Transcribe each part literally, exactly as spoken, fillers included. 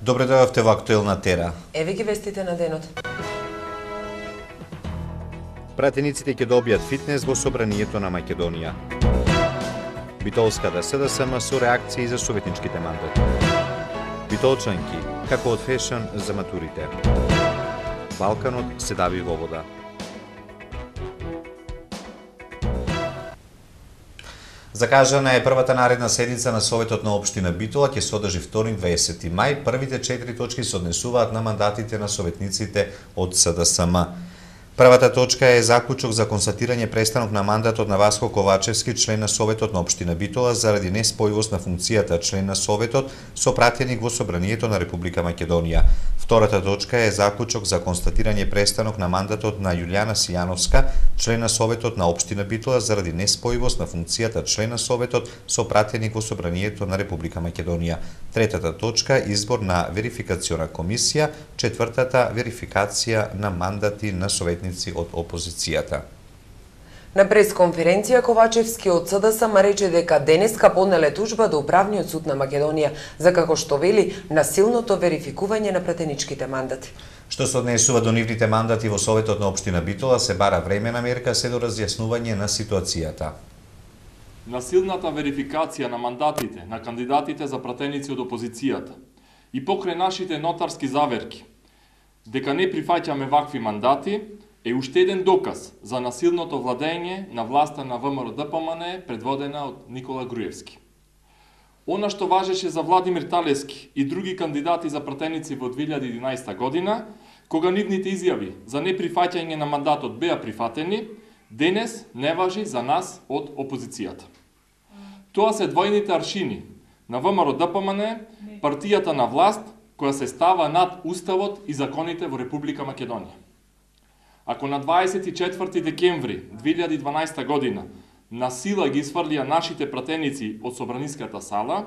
Добре дојдовте во Актуелна Тера. Еве ги вестите на денот. Пратениците ќе добијат фитнес во собранието на Македонија. Битолската СДСМ со реакции за советничките мандати. Битолчанки, како од фешн за матурите. Балканот се дави во вода. Закажана е првата наредна седница на Советот на општина Битола, ќе се одржи вторник дваесети мај. Првите четири точки се однесуваат на мандатите на советниците од СДСМ. Првата точка е заклучок за констатирање престанок на мандатот на Васко Ковачевски, член на Советот на општина Битола, заради неспојивост на функцијата член на Советот со пратеник во Собранието на Република Македонија. Втората точка е заклучок за констатирање престанок на мандатот на Јулијана Сијановска, член на Советот на општина Битола, заради неспојивост на функцијата член на Советот со пратеник во Собранието на Република Македонија. Третата точка избор на верификациона комисија, четвртата верификација на мандати на советници од опозицијата. На пресконференција Ковачевски од СДСМ рече дека денеска поднеле тужба до Управниот суд на Македонија за, како што вели, насилното верификување на пратеничките мандати. Што се однесува до нивните мандати во Советот на општина Битола, се бара времена мерка се до разјаснување на ситуацијата. Насилната верификација на мандатите на кандидатите за пратеници од опозицијата и покрај нашите нотарски заверки дека не прифаќаме вакви мандати е уште еден доказ за насилното владење на власта на ВМРО-ДПМН предводена од Никола Груевски. Она што важеше за Владимир Талевски и други кандидати за пратеници во две илјади и единаесета година, кога нивните изјави за неприфаќање на мандатот беа прифатени, денес не важи за нас од опозицијата. Тоа се двојните аршини на ВМРО-ДПМН, партијата на власт, која се става над Уставот и законите во Република Македонија. Ако на дваесет и четврти декември две илјади и дванаесета година на сила ги изфрлија нашите пратеници од Собраниската сала,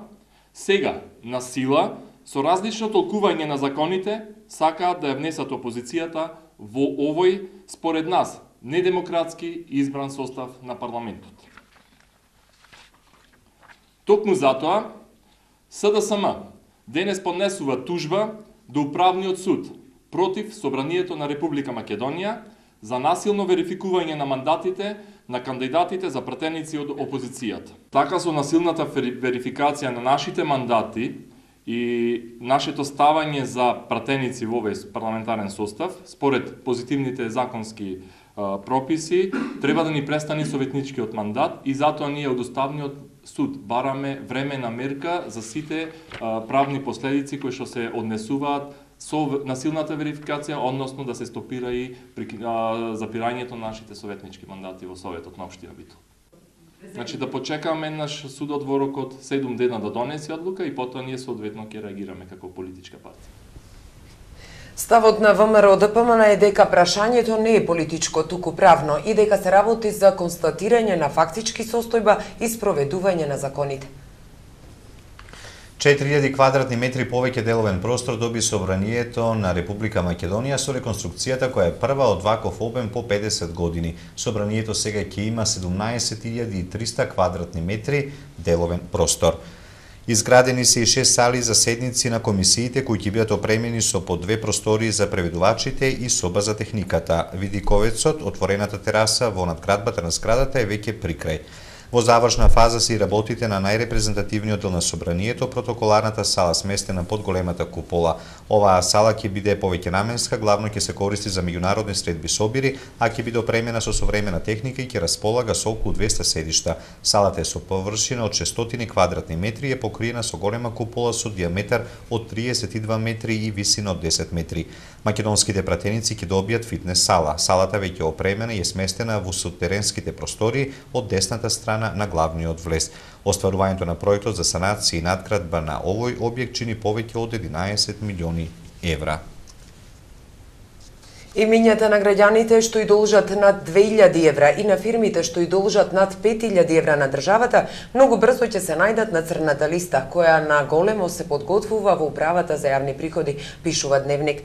сега на сила, со различно толкување на законите, сакаат да ја внесат опозицијата во овој, според нас, недемократски избран состав на парламентот. Токму затоа, СДСМ денес поднесува тужба до Управниот суд против Собранието на Република Македонија за насилно верификување на мандатите на кандидатите за пратеници од опозицијата. Така со насилната верификација на нашите мандати и нашето ставање за пратеници во овој парламентарен состав, според позитивните законски а, прописи, треба да ни престане советничкиот мандат и затоа ние од Уставниот суд бараме времена мерка за сите а, правни последици кои што се однесуваат со насилната верификација, односно да се стопира и а, запирањето на нашите советнички мандати во Советот на општина Битола. Значи да почекаме наш судот во рок од седум дена да донесе одлука и потоа ние соодветно ќе реагираме како политичка партија. Ставот на ВМРО-ДПМН е дека прашањето не е политичко, туку правно и дека се работи за констатирање на фактички состојба и спроведување на законите. четири илјади квадратни метри повеќе деловен простор доби Собранието на Република Македонија со реконструкцијата која е прва од ваков обем по педесет години. Собранието сега ќе има седумнаесет илјади и триста квадратни метри деловен простор. Изградени се и шест сали за седници на комисиите кои ќе бидат опремени со по две простории за преведувачите и соба за техниката. Видиковецот, отворената тераса во надградбата на зградата е веќе прикрај. Во завршна фаза се и работите на најрепрезентативниот дел на Собранието, протоколарната сала сместена под големата купола. Оваа сала ќе биде повеќенаменска, главно ќе се користи за меѓународни средби собири, а ќе биде опремена со современа техника и ќе располага со околу двеста седишта. Салата е со површина од шестстотини квадратни метри и е покриена со голема купола со диаметар од триесет и два метри и висина од десет метри. Македонските пратеници ќе добијат фитнес сала. Салата веќе опремена и е сместена во сутеренските простори од десната страна на главниот влез. Остварувањето на проектот за санација и надградба на овој објект чини повеќе од единаесет милиони евра. Имињата на граѓаните што и должат над две илјади евра и на фирмите што и должат над пет илјади евра на државата, многу брзо ќе се најдат на црната листа, која на големо се подготвува во Управата за јавни приходи, пишува Дневник.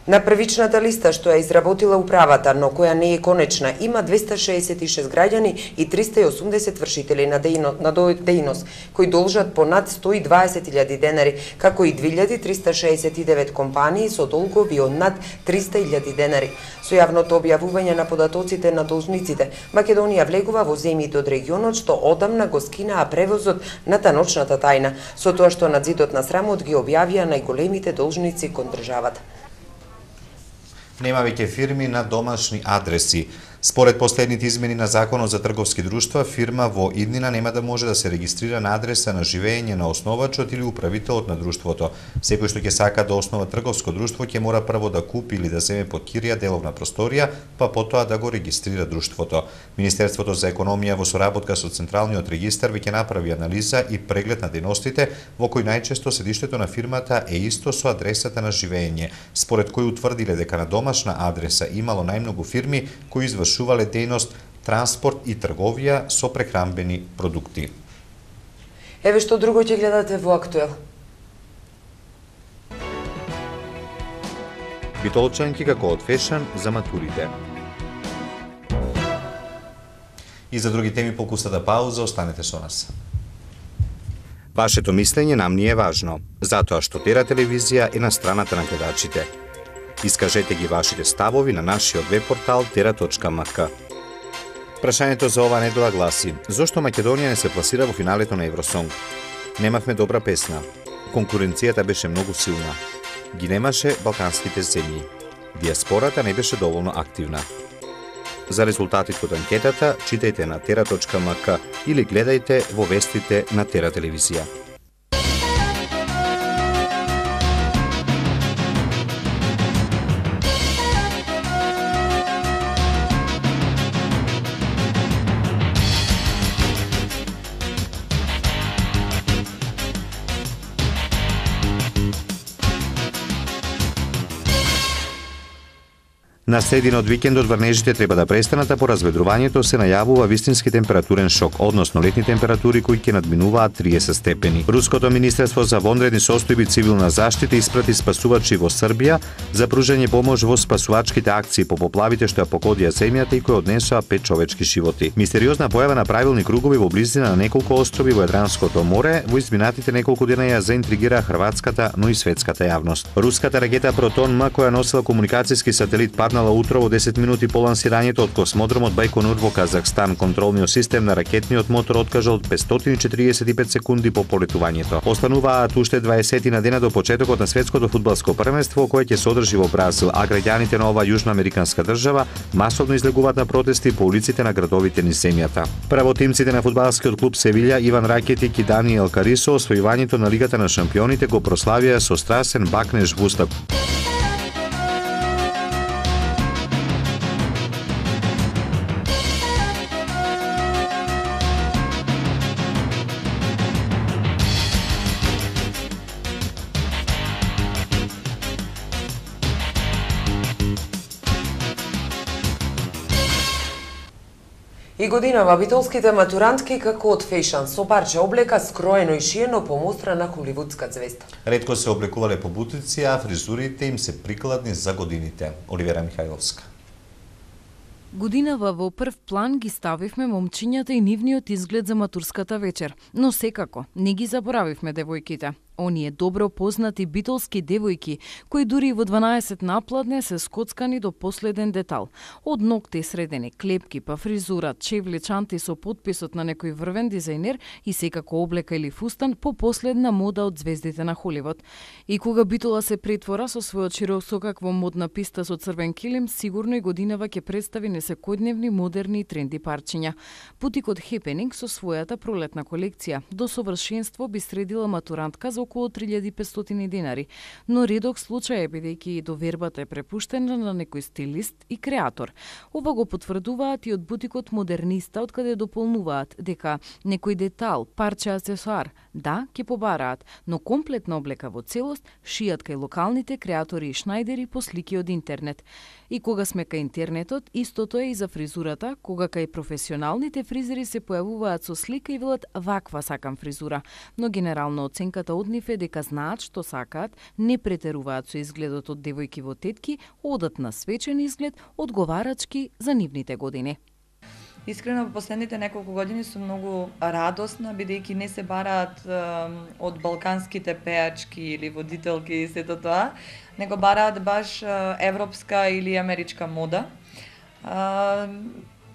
На првичната листа што ја изработила управата, но која не е конечна, има двеста шеесет и шест граѓани и триста и осумдесет вршители на дејност, кои должат по над сто и дваесет илјади денари, како и две илјади триста шеесет и девет компании со долгови од над триста илјади денари. Со јавното објавување на податоците на должниците, Македонија влегува во земјите од регионот што одамна го скинаа превозот на таночната тајна, со тоа што надзидот на срамот ги објавија најголемите должници кон државата. Нема веќе фирми на домашни адреси. Според последните измени на Законот за трговски друштва, фирма во иднина нема да може да се регистрира на адреса на живење на основачот или управителот на друштвото. Секој што ќе сака да основа трговско друштво ќе мора прво да купи или да земе под кирија деловна просторија, па потоа да го регистрира друштвото. Министерството за економија во соработка со Централниот регистар веќе направи анализа и преглед на дејностите во кои најчесто седиштето на фирмата е исто со адресата на живење, според кои утврдиле дека на домашна адреса имало најмногу фирми кои извршувале дејност транспорт и трговија со прехранбени продукти. Еве што друго ќе гледате во Актуел. Битолчанки како од фешн за матурите. И за други теми по кусата пауза, останете со нас. Вашето мислење нам ни е важно, затоа што Тера телевизија е на страната на гледачите. Искажете ги вашите ставови на нашиот веб портал тера точка ем ка. Прашањето за оваа недела гласи: зошто Македонија не се пласира во финалето на Евросонг? Немавме добра песна. Конкуренцијата беше многу силна. Ги немаше балканските земји. Диаспората не беше доволно активна. За резултатите од анкетата читајте на тера точка ем ка или гледајте во вестите на Тера телевизија. На средина од викендот врнежите треба да престанат, а по разведрувањето се најавува вистински температурен шок, односно летни температури кои ќе надминуваат триесет степени. Руското министерство за вонредни состојби цивилна заштита испрати спасувачи во Србија за пружање помош во спасувачките акции по поплавите што ја погодија земјата и кои однесоа пет човечки животи. Мистериозна појава на правилни кругови во близина на неколку острови во Јадранското море во изминатите неколку дена ја заинтригира хрватската, но и светската јавност. Руската ракета Протон М која носела комуникацијски сателит паднала утро во десет минути по лансирањето од космодромот Бајконур во Казахстан. Контролниот систем на ракетниот мотор откажал петстотини и четириесет и пет секунди по полетувањето. Остануваат уште дваесет на дена до почетокот на светското фудбалско првенство кое ќе се одржи во Бразил, а граѓаните на оваа јужноамериканска држава масовно излегуваат на протести по улиците на градовите низ земјата. Правотимците на фудбалскиот клуб Севилја Иван Ракетик и Даниел Карисо освојувањето на Лигата на шампионите го прославија со страсен бакнеж в уста. И годинава битолските матурантки како од фешн со парче облека скроено и шиено по мустра на холивудска звезда. Ретко се облекувале по бутици, а фризурите им се прикладни за годините. Оливера Михајловска. Годинава во прв план ги ставивме момчињата и нивниот изглед за матурската вечер, но секако не ги заборавивме девојките. Оние добро познати битолски девојки, кои дури во дванаесет напладне се скоцкани до последен детал. Од ногти средени, клепки, па фризура, чевли, чанти со подписот на некој врвен дизајнер и секако облека или фустан по последна мода од звездите на Холивуд. И кога Битола се претвора со својот широк сокак во модна писта со црвен килим, сигурно и годинава ќе представи несекојдневни, модерни и тренди парчиња. Бутикот Хепенинг со својата пролетна колекција до совршенство би средила матурантка за околу три илјади и петстотини денари, но редок случај е бидејќи довербата е препуштена на некој стилист и креатор. Ова го потврдуваат и од бутикот Модерниста, од каде дополнуваат дека некој детал, парче аксесоар, да, ќе побараат, но комплетна облека во целост шијат кај локалните креатори и шнајдери по слики од интернет. И кога сме кај интернетот, истото е и за фризурата, кога кај професионалните фризери се појавуваат со слика и велат ваква сакам фризура, но генерално оценката од нив нив е дека знаат што сакаат, не претеруваат со изгледот од девојки во тетки, одат на свечен изглед, одговарачки за нивните години. Искрено, во последните неколку години сум многу радосна, бидејќи не се бараат е, од балканските пеачки или водителки и сето тоа, него бараат баш е, европска или америчка мода. Е,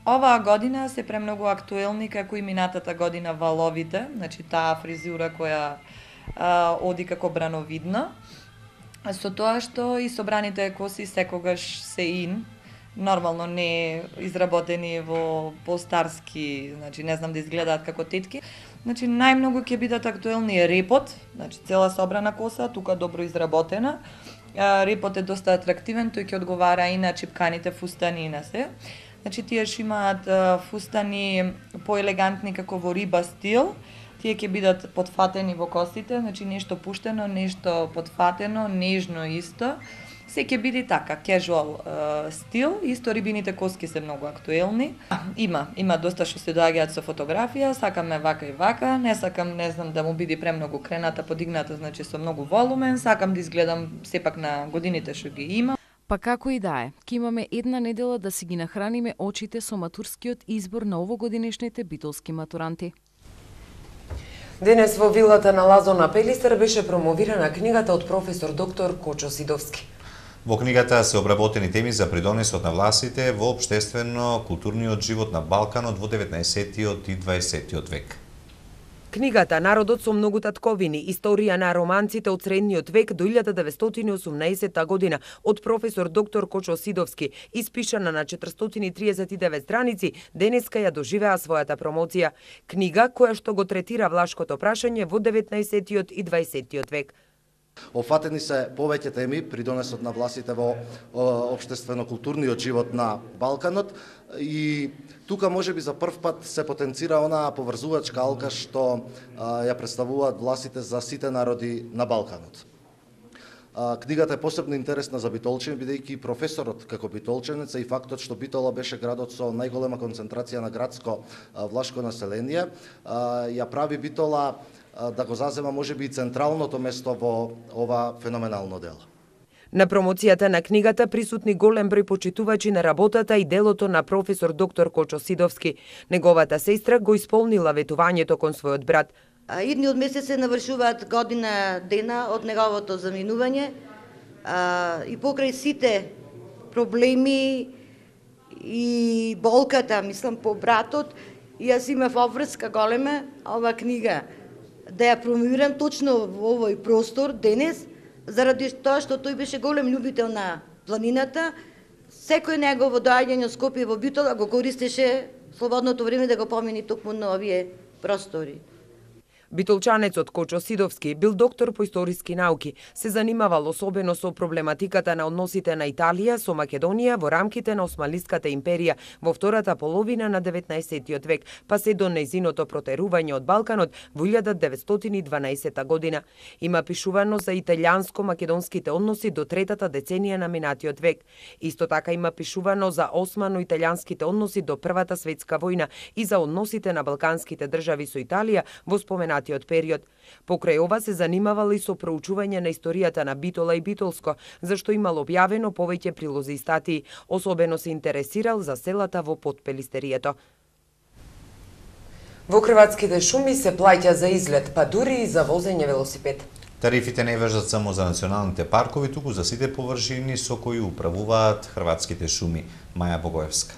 оваа година се премногу актуелни како и минатата година валовите, значи таа фризура која е, оди како брановидно, со тоа што и собраните коси секогаш се ин, нормално не изработени во постарски, значи не знам да изгледаат како тетки. Значи најмногу ќе бидат актуелни е репот, значи цела собрана коса, тука добро изработена. Репот е доста атрактивен, тој ќе одговара и на чипканите фустани и на се. Значи тие што имаат фустани поелегантни како во риба стил, тие ќе бидат потфатени во косите, значи нешто пуштено, нешто потфатено, нежно исто. Се ќе биде така, casual uh, стил, исто рибините коски се многу актуелни. Има, има доста што се доаѓаат со фотографија, сакаме вака и вака, не сакам, не знам, да му биде премногу крената, подигната, значи со многу волумен, сакам да изгледам сепак на годините што ги има. Па како и да е, ќе имаме една недела да си ги нахраниме очите со матурскиот избор на овогодинешните битолски матуранти. Денес во вилата на Лазо на Пелистер беше промовирана книгата од професор доктор Кочо Сидовски. Во книгата се обработени теми за придонесот на властите во општествено-културниот живот на Балканот во деветнаесеттиот и дваесеттиот век. Книгата "Народот со многу татковини. Историја на романците од средниот век до илјада деветстотини и осумнаесетта година" од професор доктор Кочо Сидовски, испишана на четиристотини и триесет и девет страници, денеска ја доживеа својата промоција. Книга која што го третира влашкото прашање во деветнаесеттиот и дваесеттиот век. Офатени се повеќе теми при донесот на властите во општествено-културниот живот на Балканот и тука можеби за прв пат се потенцира онаа поврзувачка алка што а, ја представуваат властите за сите народи на Балканот. А, книгата е посебно интересна за битолчани, бидејќи професорот како битолчанец и фактот што Битола беше градот со најголема концентрација на градско а, влашко население, а, ја прави Битола да го зазема можеби и централното место во ова феноменално дело. На промоцијата на книгата присутни голем број почитувачи на работата и делото на професор доктор Кочо Сидовски. Неговата сестра го исполнила ветувањето кон својот брат. Идниот месец се навршуваат година дена од неговото заминување и покрај сите проблеми и болката, мислам, по братот, јас имав обврска голема ова книга да ја промовирам точно во овој простор денес, заради тоа што тој беше голем љубител на планината. Секој негово доаѓање од Скопје во Битола го користеше слободното време да го помини токму на овие простори. Битолчанецот Кочо Сидовски бил доктор по историски науки, се занимавал особено со проблематиката на односите на Италија со Македонија во рамките на Османлиската империја во втората половина на деветнаесеттиот век, па се до нејзиното протерување од Балканот во илјада деветстотини и дванаесетта година. Има пишувано за италијанско-македонските односи до третата деценија на минатиот век. Исто така има пишувано за османо-италијанските односи до Првата светска војна и за односите на балканските држави со Италија во споменатиот период. Покрај ова се занимавал и со проучување на историјата на Битола и Битолско, зашто имал објавено повеќе прилози и статии. Особено се интересирал за селата во Подпелистерието. Во хрватските шуми се плаќа за излет, па дури и за возење велосипед. Тарифите не важат само за националните паркови, туку за сите површини со кои управуваат хрватските шуми. Маја Богоевска.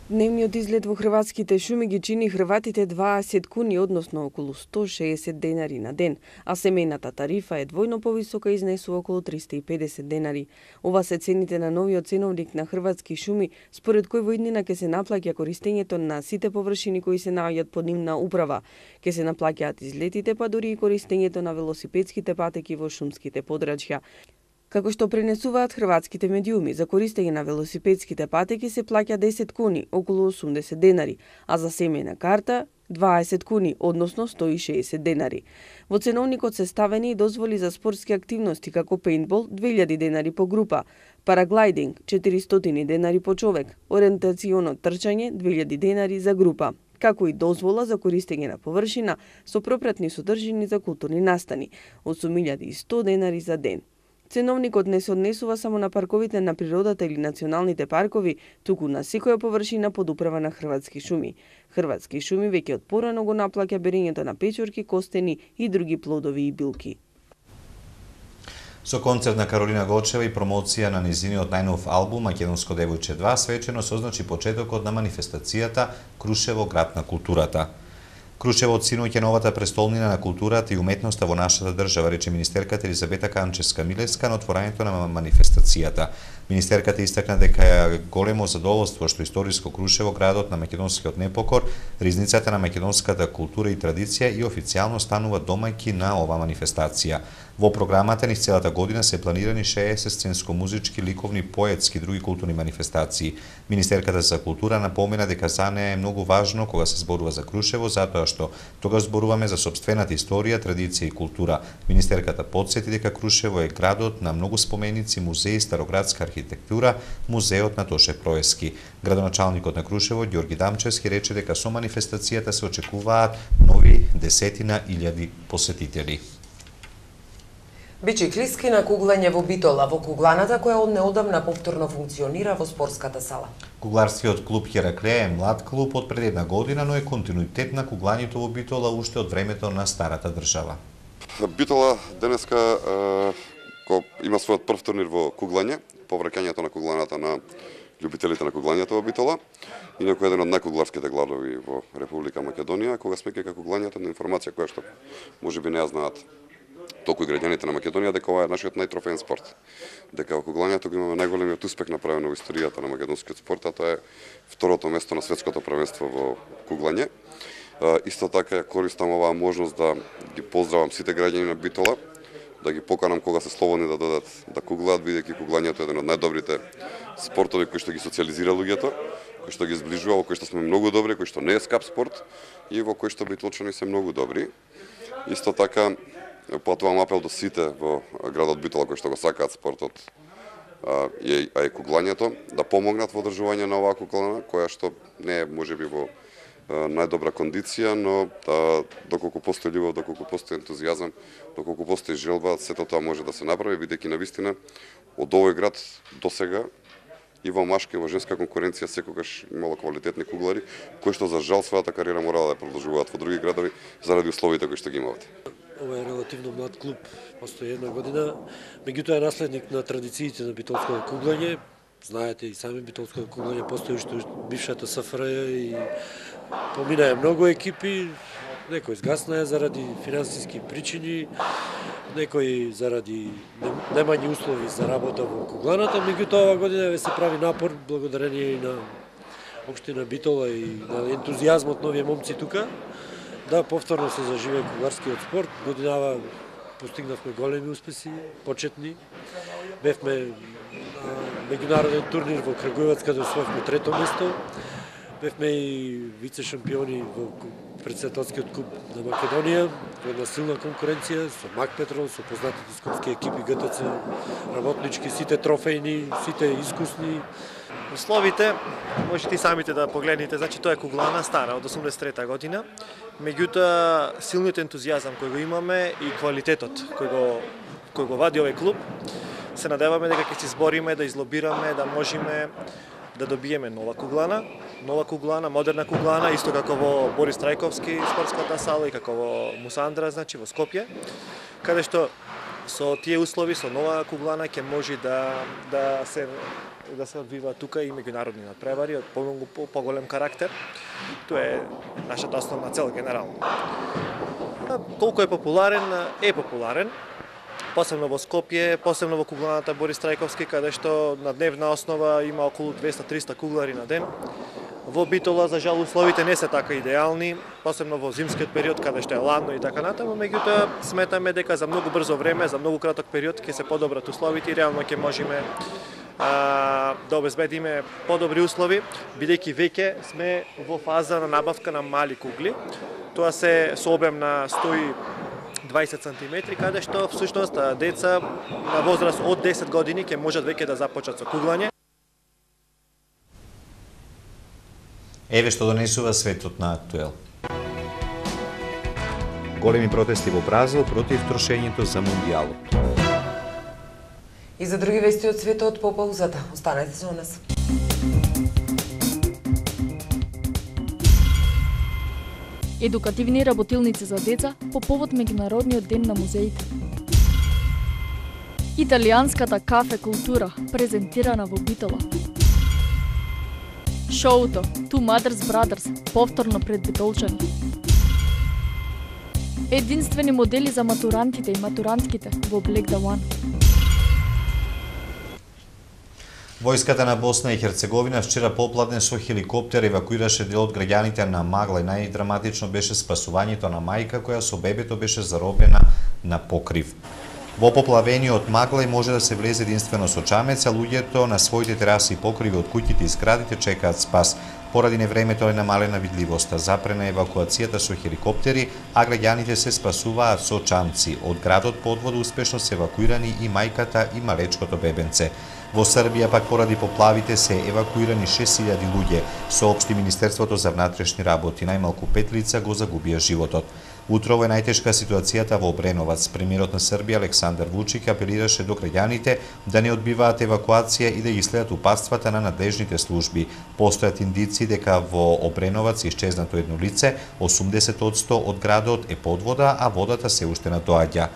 Дневниот излет во хрватските шуми ги чини хрватите дваесет куни, односно околу сто шеесет денари на ден, а семејната тарифа е двојно повисока и изнесува околу триста и педесет денари. Ова се цените на новиот ценовник на хрватски шуми, според кој во иднина ќе се наплаќа користењето на сите површини кои се наоѓаат под нивна управа, ќе се наплаќаат излетите, па дури и користењето на велосипедските патеки во шумските подрачја. Како што пренесуваат хрватските медиуми, за користење на велосипедските патеки се плаќа десет куни, околу осумдесет денари, а за семејна карта дваесет куни, односно сто и шеесет денари. Во ценовникот се ставени и дозволи за спортски активности како пейнтбол две илјади денари по група, параглайдинг четиристотини денари по човек, ориентационо трчање две илјади денари за група. како и дозвола за користење на површина со пропратни содржини за културни настани, осум илјади и сто денари за ден. Ценовникот не се однесува само на парковите на природата или националните паркови, туку на секоја површина под управа на Хрватски шуми. Хрватски шуми веќе од порано го наплаќа берењето на печорки, костени и други плодови и билки. Со концерт на Каролина Гочева и промоција на низиниот најнов албум Македонско девојче два свечено се означи почетокот на манифестацијата Крушево град на културата. Крушево од синоќ е новата престолнина на културата и уметноста во нашата држава, рече министерката Елизабета Канчевска-Милевска на отворањето на манифестацијата. Министерката истакна дека е големо задоволство што историско Крушево, градот на македонскиот непокор, ризницата на македонската култура и традиција и официјално станува домајки на ова манифестација. Во програмата низ целата година се планирани шеесет сценско-музички, ликовни, поетски и други културни манифестации. Министерката за култура напомена дека за неа е многу важно кога се зборува за Крушево, затоа што тогаш зборуваме за сопствената историја, традиција и култура. Министерката потсети дека Крушево е градот на многу споменици, музеи, староградска архитектура, музеот на Тоше Проески. Градоначалникот на Крушево, Ѓорги Дамчевски, рече дека со манифестацијата се очекуваат нови десетина илјади посетители. Бiciклистки на куглање во Битола, во кугланата која од неодамна повторно функционира во спортската сала. Кугларскиот клуб Хераклеја е млад клуб од пред една година, но е континуитет на куглањето во Битола уште од времето на старата држава. Битола денеска е, има својот прв турнир во куглање, повраќањето на кугланата на љубителите на куглањето во Битола, инаку еден од најкугларските градови во Република Македонија, кога сме дека куглањето на информација која што можеби не ја знаат толку и граѓаните на Македонија, дека ова е нашиот најтрофеен спорт. Дека во куглањето го имаме најголемиот успех направен во историјата на македонскиот спорт, а тоа е второто место на светското првенство во куглање. Исто така користам оваа можност да ги поздравам сите граѓани на Битола, да ги поканам кога се слободни да додат да куглаат, бидејќи куглањето е еден од најдобрите спортови кои што ги социализира луѓето, кои што ги зближува, во кои што сме многу добри, кои што не е скап спорт и во кои што битолчани се многу добри. Исто така потвам апел до сите во градот Битола кои што го сакаат спортот а е, а е куглањето, да помогнат во одржување на оваа куглана, која што не е можеби во најдобра кондиција, но да, доколку постои љубов, доколку постои ентузијазам, доколку постои желба, сето тоа може да се направи, бидејќи навистина од овој град досега и во машка и во женска конкуренција секогаш имало квалитетни куглари, кои што за жал својата кариера морала да продолжуваат во други градови заради условите кои што ги имаат. Ова е релативно млад клуб, постои една година, меѓутоа е наследник на традициите на битолското куглање. Знаете и сами битолското куглање постои уште бившата СФРЈ и поминаа многу екипи, некои згаснаа заради финансиски причини, некои заради немање услови за работа во кугланата, меѓутоа оваа година ве се прави напор благодарение и на општина Битола и на ентузијазмот нови момци тука, да повторно се заживее кугларскиот спорт. Годинава постигнавме големи успеси, почетни. Бевме на меѓународен турнир во Крагуевац, каде освоивме трето место. Бевме и вице шампиони во председателскиот куп на Македонија, во една силна конкуренција со Мак Петрол, со познатите скопски екипи ГТЦ, работнички, сите трофејни, сите искусни. Условите, можете и самите да погледнете, значи тоа е куглана стара од осумдесет и трета година, меѓутоа силниот ентузијазам кој го имаме и квалитетот кој го кој го вади овој клуб, се надеваме дека ќе се избориме да излобираме, да можеме да добиеме нова куглана, нова куглана, модерна куглана, исто како во Борис Трајковски спортската сала и како во Мусандра, значи во Скопје, каде што со тие услови, со нова куглана ќе може да да се да се одвива тука и меѓународни надпревари од помногу поголем карактер. Тоа е нашата основна цел генерално. Колку е популарен, е популарен. Посебно во Скопје, посебно во кугланата Борис Трајковски, каде што на дневна основа има околу двеста до триста куглари на ден. Во Битола, за жал, условите не се така идеални, посебно во зимскиот период, каде што е ладно и така натаму, меѓутоа сметаме дека за многу брзо време, за многу краток период ќе се подобрат условите и реално ќе можеме а, да обезбедиме подобри услови, бидејќи веќе сме во фаза на набавка на мали кугли. Тоа се со обем на сто и дваесет сантиметри, каде што всушност деца на возраст од десет години ќе можат веќе да започнат со куглање. Еве што донесува светот на Актуел. Големи протести во Бразил против трошењето за Мундијалот. И за други вести од светот по паузата. Останете со нас. Едукативни работилници за деца по повод Меѓународниот ден на музеите. Италијанската кафе култура презентирана во Битола. Шоуто Two Mothers Brothers повторно пред битолчани. Единствени модели за матурантите и матурантките во Black the One. Војската на Босна и Херцеговина вчера попладне со хеликоптер евакуираше дел од граѓаните на Магла и најдраматично беше спасувањето на мајка која со бебето беше заробена на покрив. Во поплавениот Маглај може да се влезе единствено со чамец, а луѓето на своите тераси и покриви од куќите и зградите чекаат спас. Поради невремето е намалена видливоста, запрена евакуацијата со хеликоптери, а граѓаните се спасуваат со чамци. Од градот под вода успешно се евакуирани и мајката и малечкото бебенце. Во Србија пак поради поплавите се евакуирани шест илјади луѓе, соопшти Министерството за внатрешни работи. Најмалку пет лица го загубија животот. Утрово е најтешка ситуацијата во Обреновац. Премиерот на Србија Александар Вучик апелираше до граѓаните да не одбиваат евакуација и да ги следат упатствата на надлежните служби. Постојат индици дека во Обреновац исчезнато едно лице, осумдесет одсто од градот е под вода, а водата се уште надоаѓа.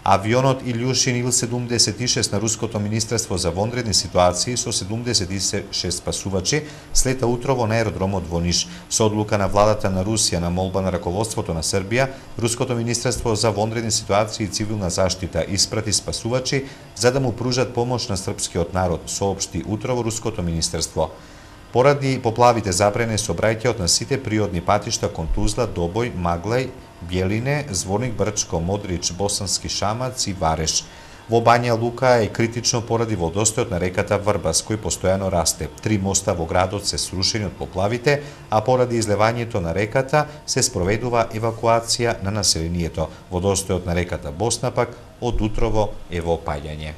Авионот Илјушин Ил седумдесет и шест на Руското министерство за вонредни ситуации со седумдесет и шест спасувачи слета утрово на аеродромот во Ниш. Со одлука на владата на Русија на молба на раководството на Србија, Руското министерство за вонредни ситуации и цивилна заштита испрати спасувачи за да му пружат помош на српскиот народ, соопшти утрово Руското министерство. Поради поплавите забране сообраќајот на сите приодни патишта кон Тузла, Добој, Маглај, Бјелине, Зворник, Брчко, Модрич, Босански Шамац и Вареш. Во Бања Лука е критично поради водостојот на реката Врбас, кој постојано расте. Три моста во градот се срушени од поплавите, а поради излевањето на реката се спроведува евакуација на населението. Водостојот на реката Босна пак од утрово е во опаѓање.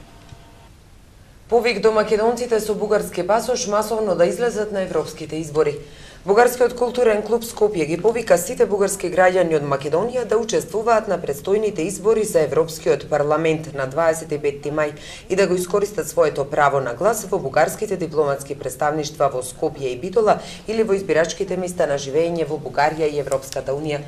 Повик до македонците со бугарски пасош масовно да излезат на европските избори. Бугарскиот културен клуб Скопје ги повика сите бугарски граѓани од Македонија да учествуваат на предстојните избори за Европскиот парламент на дваесет и петти мај и да го искористат своето право на глас во бугарските дипломатски представништва во Скопје и Битола или во избирачките места на живење во Бугарија и Европската унија.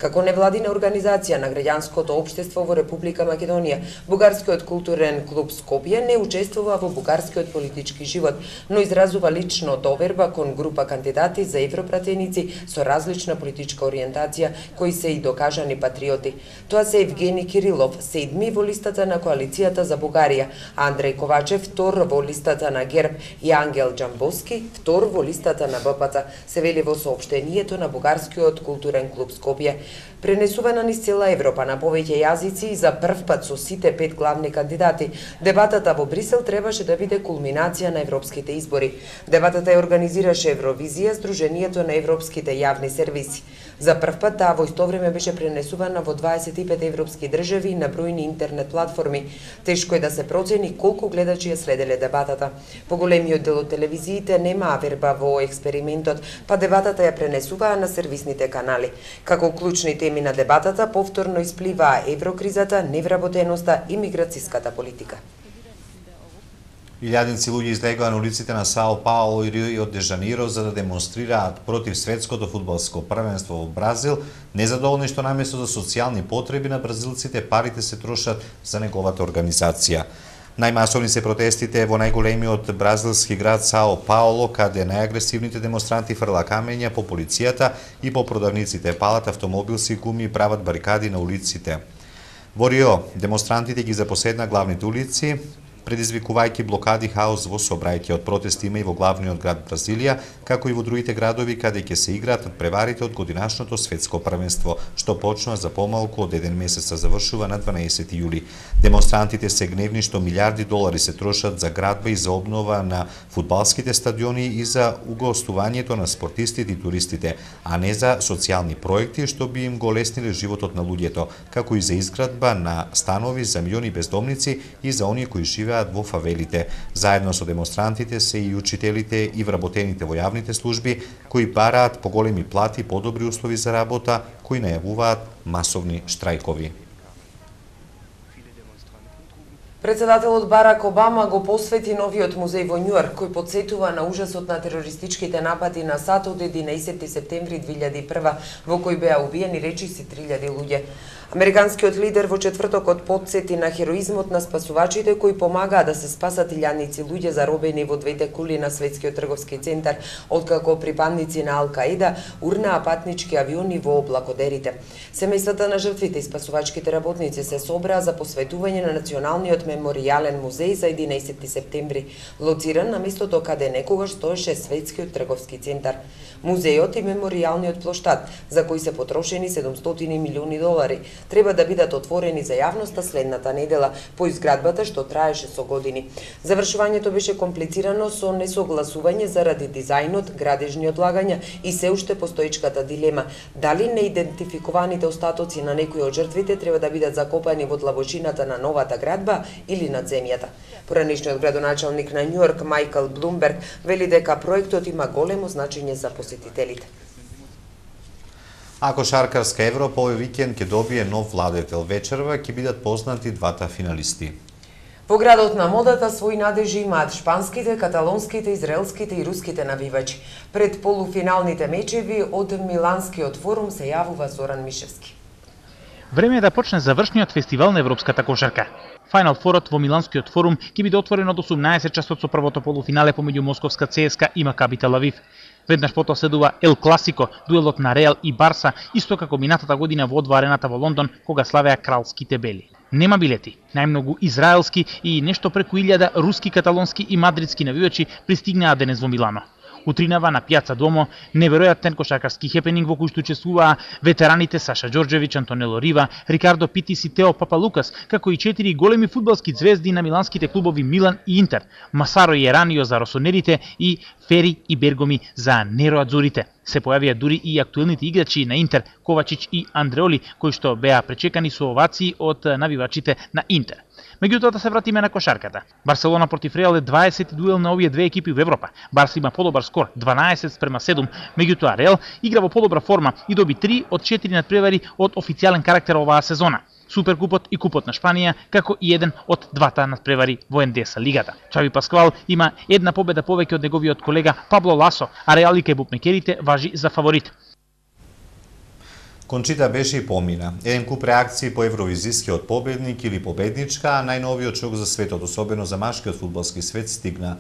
Како невладина организација на граѓанското општество во Република Македонија, Бугарскиот културен клуб Скопје не учествува во бугарскиот политички живот, но изразува лично доверба кон група кандидати за европратеници со различна политичка ориентација, кои се и докажани патриоти. Тоа се Евгени Кирилов, седми во листата на Коалицијата за Бугарија, Андреј Ковачев, втор во листата на ГЕРБ и Ангел Џамбовски, втор во листата на БПЦ, се вели во соопштението на Бугарскиот културен клуб Скопје. Пренесувана низ цела Европа на повеќе јазици и за прв пат со сите пет главни кандидати, дебатата во Брисел требаше да биде кулминација на европските избори. Дебатата ја организираше Евровизија, Сдруженијето на европските јавни сервиси. За прв пат таа во исто време беше пренесувана во дваесет и пет европски држави и на бројни интернет платформи. Тешко е да се процени колку гледачи ја следеле дебатата. Поголемиот дел од телевизиите немаа верба во експериментот, па дебатата ја пренесуваа на сервисните канали. Како клучни теми на дебатата повторно испливаа еврокризата, невработеноста и миграцијската политика. Илјадници луѓе излегоа на улиците на Сао Пауло и Рио де Жаниро за да демонстрираат против светското фудбалско првенство во Бразил, незадоволни што наместо за социјални потреби на бразилците парите се трошат за неговата организација. Најмасовни се протестите во најголемиот бразилски град Сао Пауло, каде најагресивните демонстранти фрла камења по полицијата и по продавниците, палат автомобилски гуми и прават барикади на улиците. Во Рио, демонстрантите ги запоседна главните улици, предизвикувајќи блокади хаос во сообраќајот. Протести има и во главниот град Бразилија, како и во другите градови каде ќе се играат надпреварите од годинашното светско првенство, што почнува за помалку од еден месец, а завршува на дванаесети јули. Демонстрантите се гневни што милиарди долари се трошат за градба и за обнова на фудбалските стадиони и за угостувањето на спортистите и туристите, а не за социјални проекти што би им го лесниле животот на луѓето, како и за изградба на станови за милиони бездомници и за оние кои живеат живеат во фавелите. Заедно со демонстрантите се и учителите и вработените во јавните служби, кои бараат поголеми плати и подобри услови за работа, кои најавуваат масовни штрајкови. Председателот Барак Обама го посвети новиот музеј во Њујорк, кој потсетува на ужасот на терористичките напади на САД од единаесетти септември две илјади и прва, во кој беа убиени речиси три илјади луѓе. Американскиот лидер во четвртокот потсети на хероизмот на спасувачите кои помагаа да се спасат илјадници луѓе заробени во двете кули на Светскиот трговски центар, откако припадници на Ал-Каида урнаа патнички авиони во облакодерите. Семејствата на жртвите и спасувачките работници се собраа за посветување на Националниот меморијален музеј за единаесетти септември, лоциран на местото каде некогаш стоеше Светскиот трговски центар. Музејот и меморијалниот плоштад, за кои се потрошени седумстотини милиони долари, треба да бидат отворени за јавноста следната недела по изградбата што траеше со години. Завршувањето беше комплицирано со несогласување заради дизајнот, градежни одлагања и се уште постоечката дилема дали неидентификуваните остатоци на некои од жртвите треба да бидат закопани во длабочината на новата градба или над земјата. Поранешниот градоначалник на Њујорк Мајкл Блумберг вели дека проектот има големо значење за посетителите. А кошаркарска Европа овој викенд ќе добие нов владетел. Вечерва ќе бидат познати двата финалисти. Во градот на модата своји надежи имаат шпанските, каталонските, израелските и руските навивачи. Пред полуфиналните мечеви од Миланскиот форум се јавува Зоран Мишевски. Време е да почне завршниот фестивал на европската кошарка. Фајнал форот во Миланскиот форум ќе биде отворен од осумнаесет часот со првото полуфинале помеѓу Московска ЦСКА и Макаби Тел Авив. Веднаш потоа следува Ел Класико, дуелот на Реал и Барса, исто како минатата година во О два арената во Лондон, кога славеа кралските бели. Нема билети. Најмногу израелски и нешто преку илјада руски, каталонски и мадридски навивачи пристигнаа денес во Милано. Утринава на пијаца Домо неверојатен кошаркарски хепенинг во кој што учествуваа ветераните Саша Ѓорđević, Антонело Рива, Рикардо Питис и Тео Папалукас, како и четири големи фудбалски звезди на миланските клубови Милан и Интер, Масаро и Еранио за росонерите и Фери и Бергоми за нероадзурите. Се појавија дури и актуелните играчи на Интер, Ковачич и Андреоли, кои што беа пречекани со овации од навивачите на Интер. Меѓутоа да се вратиме на кошарката. Барселона против Реал е дваесети дуел на овие две екипи во Европа. Барса има подобар скор дванаесет спрема седум, меѓутоа Реал игра во подобра форма и доби три од четири надпревари од официјален карактер оваа сезона. Суперкупот и Купот на Шпанија, како и еден од двата надпревари во Ендеса лигата. Чави Пасквал има една победа повеќе од неговиот колега Пабло Ласо, а Реал и кај букмекерите важи за фаворит. Кончита беше и помина. Еден куп реакции по евровизискиот победник или победничка, а најновиот шок за светот, особено за машкиот фудбалски свет, стигна.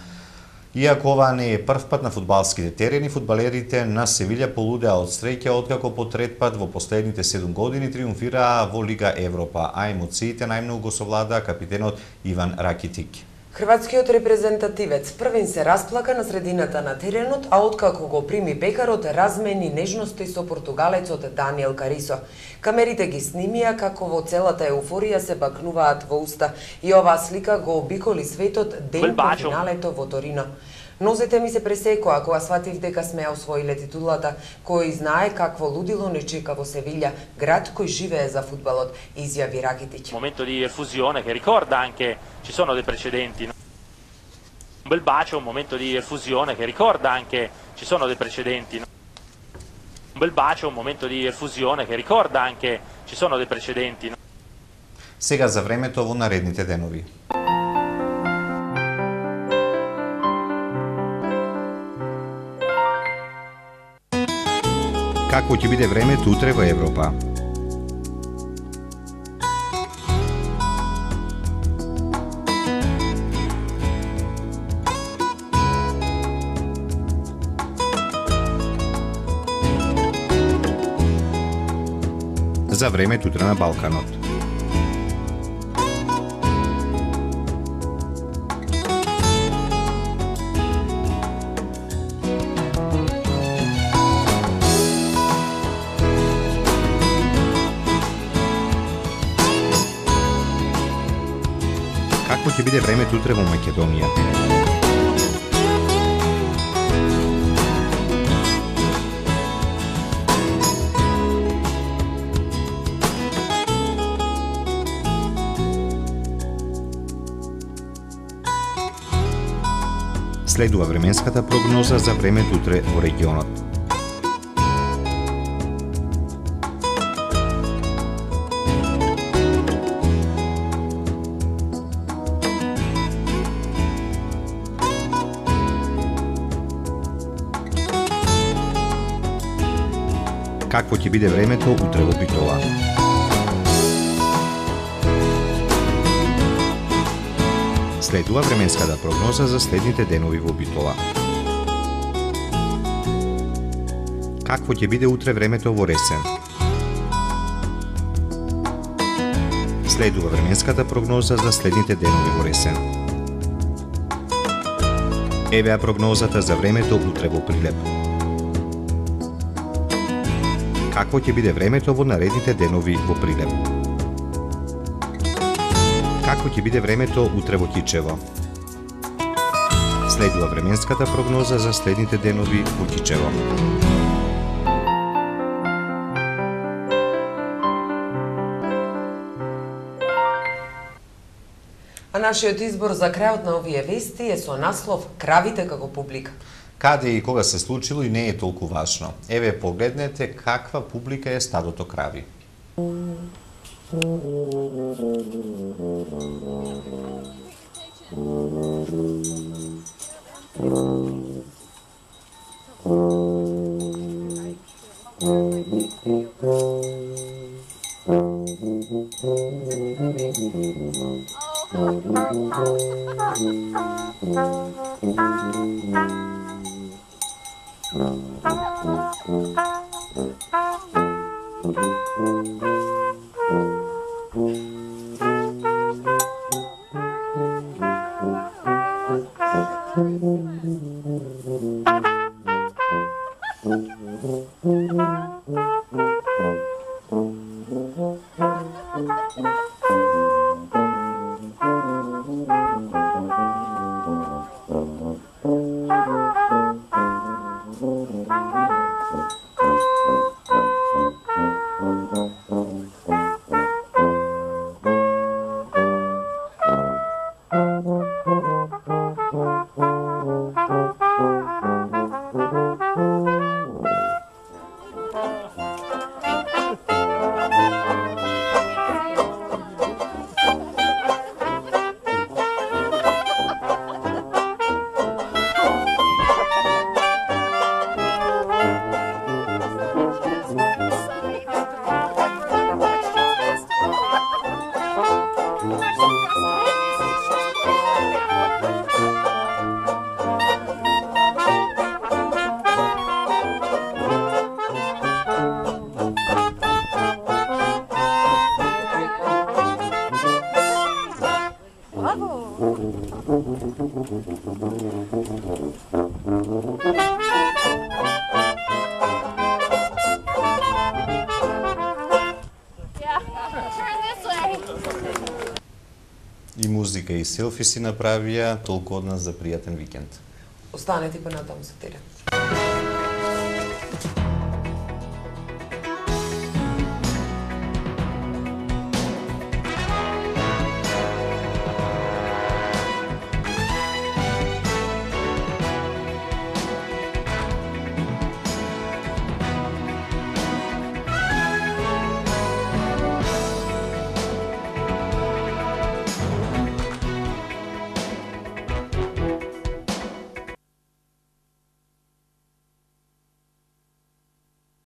Иако ова не е прв пат на фудбалските терени, фудбалерите на Севилја полудеа од среќа откако по трет пат во последните седум години триумфираа во Лига Европа, а емоциите најмногу го совладаа капитенот Иван Ракитик. Хрватскиот репрезентативец првин се расплака на средината на теренот, а откако го прими пекарот, размени нежности со португалецот Даниел Карисо. Камерите ги снимија како во целата еуфорија се бакнуваат во уста и оваа слика го обиколи светот ден по финалето во Торино. Нозете ми се пресекоа кога сватив дека сме ја освоиле титулата, кој знае какво лудило не чека во Севилја, град кој живее за фудбалот, изјави Ракитич. Момento di effusione che ricorda anche ci sono dei precedenti. Un bel bacio, un momento di effusione che ricorda anche ci sono dei precedenti. Un bel bacio, un momento di effusione che ricorda anche ci sono dei precedenti. Сега за времето во наредните денови. Какво ќе биде времето утре во Европа? За времето утре на Балканот. Какво ќе биде времето утре во Македонија? Следува временската прогноза за времето утре во регионот. Какво ќе биде времето утре во Битола? Следува временската прогноза за следните денови во Битола. Какво ќе биде утре времето во Ресен? Следува временската прогноза за следните денови во Ресен. Евеа прогнозата за времето утре во Прилеп. Какво ќе биде времето во наредните денови во Прилеп? Какво ќе биде времето утре во Кичево? Следува временската прогноза за следните денови во Кичево. А нашиот избор за крајот на овие вести е со наслов "Кравите како публика". Каде и кога се случило и не е толку важно. Еве погледнете каква публика е стадото крави. И музика и селфи си направија, толку од нас за пријатен викенд. Останете па натаму со терен.